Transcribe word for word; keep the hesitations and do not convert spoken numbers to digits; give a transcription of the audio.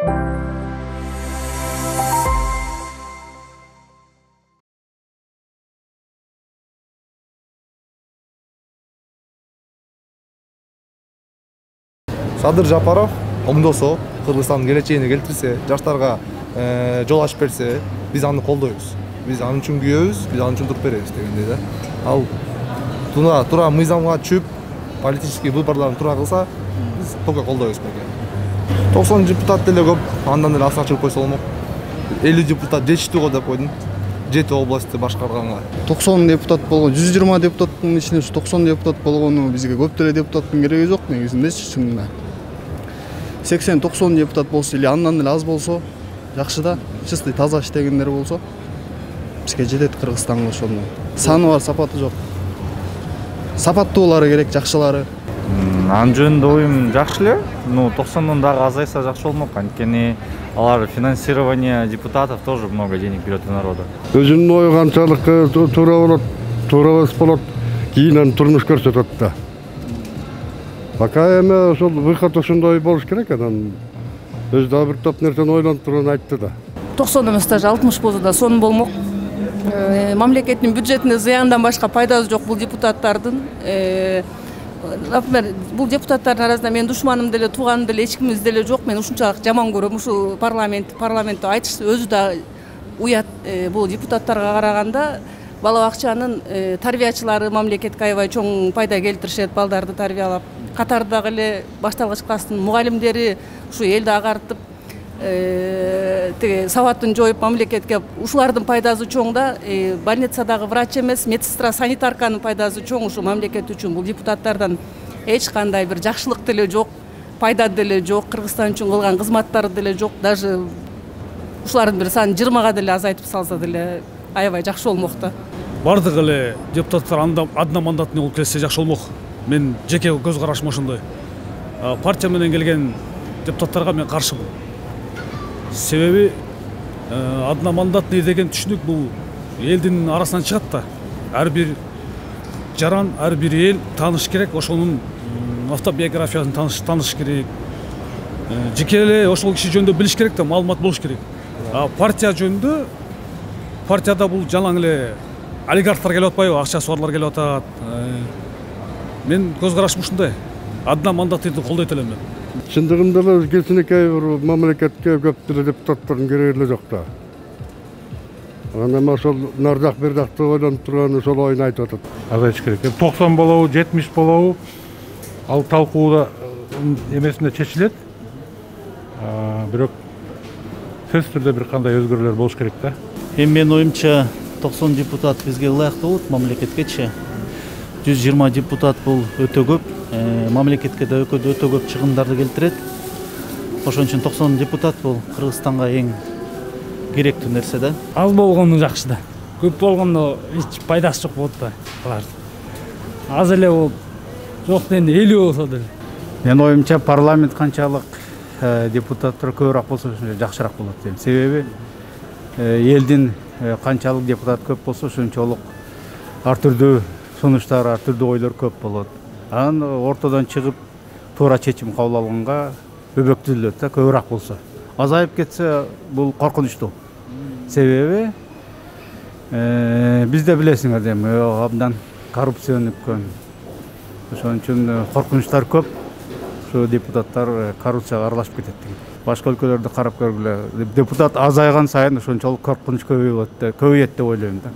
Садыр Жапаров оңдосо, Кыргызстандын келечегине келтирсе, жаштарга жол ачып берсе, биз аны колдойбуз. Биз аны үчүн күйөбүз, биз аны үчүн туруп беребиз дегендей да. Ал тура тура мыйзамга чүп, политический выборларын тура кылса, биз только колдойбуз беке. токсон депутат деле көп, андан эле асык чыгып койсо болмок. элүү депутат жетиштүү го деп койдум. жети областты башкарганга. токсон депутат болгон, жүз жыйырма депутаттын ичинде токсон депутат болгону бизге көп деле депутаттын кереги жок негизиндечи чынында. сексен токсон депутат болсо или андан эле аз болсо жакшы да, чистый таза иштегендер болсо бизге жетет Кыргызстанга ошондо. Саны бар, сапаты жок. Сапаттуулары керек, жакшылары. Анын жөнүндө оюм жакшы эле. Ну, токсондон дагы азайса жакшы болмок. Анткени алар финансирование депутатов тоже много денег берет у народа. Өзүнүн ою канчалык туура болот, туура эмес болот, кийин аны турмуш көрсөтөт да. Пока эме ошол выход ошондой болуш керек, анан өзү дагы бир топ нерсени ойлонуп туруп айтты да. токсон эмес даже алтымыш болсо да сонун болмок. Мамлекеттин бюджетине зыяндан башка пайдасы жок бул депутаттардын. Например, бул депутаттардын арасында менин душманым деле, тууганым деле, эч кимибиз деле жок. Мен ушунчалык жаман көрөм ушул парламент, парламентте айтыш өзү да уят. Бул депутаттарга караганда бала бакчанын тарбиячылары мамлекетке аябай чоң пайда келтиришет, балдарды тарбиялап. Катардагы эле башталгыч класстын мугалимдери ушу элди агартып, тиги сабатын жоюп мамлекетке ушулардын пайдасы чоң да. Больницадагы врач эмес, медсестра, санитарканын пайдасы чоң ушу мамлекет үчүн. Бул депутаттардан эч кандай бир жакшылык деле жок, пайда деле жок, Кыргызстан үчүн кылган кызматтары деле жок. Даже ушулардын бир санын жыйырмага деле азайтып салса деле аябай жакшы болмок да. Бардыгы эле депутаттар одномандатный болуп келсе жакшы болмок. Мен жеке көз карашым ошондой. Партия менен келген депутаттарга мен каршымын. Себеби одномандатный деген түшүнүк бул элдин арасынан чыгат да. Ар бир жаран, ар бир эл тааныш керек, ошонун автобиографиясын тааныш тааныш керек. Жеке эле ошол киши жөнүндө билиш керек да, маалымат болуш керек. А партия жөнүндө партияда бул жалаң эле олигархтар келип атпайбы, акчасы барлар келип атат. Мен көз карашым ушундай. Одномандатныйды колдойт элем мен. Чындыгында эле кичинекей бир мамлекетке көп деле депутаттардын кереги эле жок да. Анан ошол нар жак бир жакты ойлонуп турган ошол оюн айтып атат. Азайыш керек. токсон болобу, жетимиш болобу, ал талкууда эмесинде чечилет. Бирок сөзсүз түрдө бир кандай өзгөрүүлөр болуш керек да. Эми менин оюмча токсон депутат бизге ылайыктуу болот мамлекеткечи. жүз жыйырма депутат бул өтө көп. Мамлекетке да өтө көп чыгымдарды келтирет. Ошон үчүн токсон депутат бул Кыргызстанга эң керектүү нерсе да. Аз болгону жакшы да. Көп болгондо эч пайдасы жок болот да алар. Аз эле болуп, жок дегенде элүү болсо деле. Менин оюмча парламент канчалык депутаттар көбүрөөк болсо жакшыраак болот дейм. Себеби элдин канчалык депутат көп болсо ошончолук ар түрдүү сунуштар, ар түрдүү ойлор көп болот. Анан ортодон чыгып туура чечим кабыл алганга өбөктөлөт да, көбүрөөк болсо. Азайып кетсе бул коркунучтуу. Себеби бизде билесиңер дейм, абдан коррупция өнүккөн. Ошон үчүн коркунучтар көп. Ошо депутаттар коррупцияга аралашып кетет деген. Башка өлкөлөрдү карап көргүлө. Депутат азайган сайын ошончолук коркунуч көбөйөт, көбөйөт деп ойлойм да.